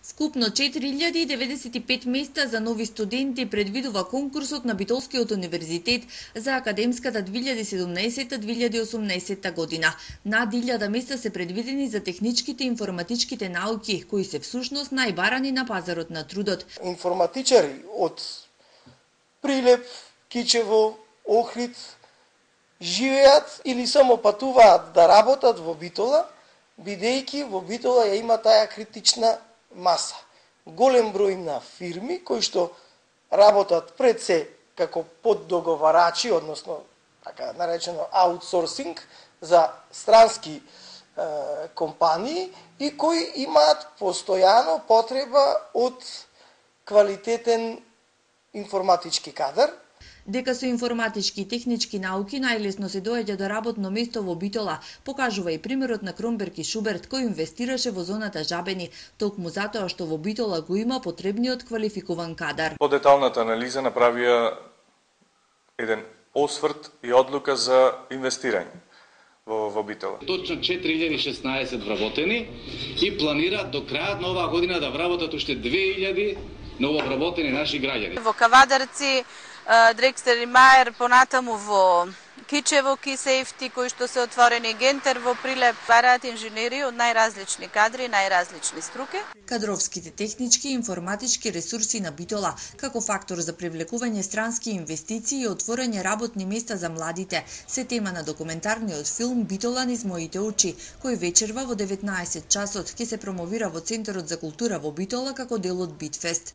Вкупно 4095 места за нови студенти предвидува конкурсот на Битолскиот универзитет за академската 2017-2018 година. Над 1000 места се предвидени за техничките и информатичките науки, кои се всушност најбарани на пазарот на трудот. Информатичари од Прилеп, Кичево, Охрид живеат или само патуваат да работат во Битола, бидејќи во Битола ја има таа критична маса. Голем број на фирми кои што работат пред се како поддоговарачи, односно така наречено аутсорсинг за странски компании и кои имаат постојано потреба од квалитетен информатички кадар. Дека со информатички и технички науки најлесно се доаѓа до работно место во Битола, покажува и примерот на Кромберг и Шуберт кој инвестираше во зоната Жабени, токму затоа што во Битола го има потребниот квалификуван кадар. По деталната анализа направија еден осврт и одлука за инвестирање во Битола. Точно 4016 вработени и планира до крајот на оваа година да вработат уште 2000 нововработени наши граѓани. Во Кавадарци, Дрекстер и Мајер, понатаму во Кичево, Кисефти, кои што се отворени, Гентер во Прилеп, бараат инженери од најразлични кадри, најразлични струки. Кадровските технички и информатички ресурси на Битола како фактор за привлекување странски инвестиции и отворање работни места за младите се тема на документарниот филм Битола низ моите очи, кој вечерва во 19 часот ќе се промовира во Центарот за култура во Битола како дел од Битфест.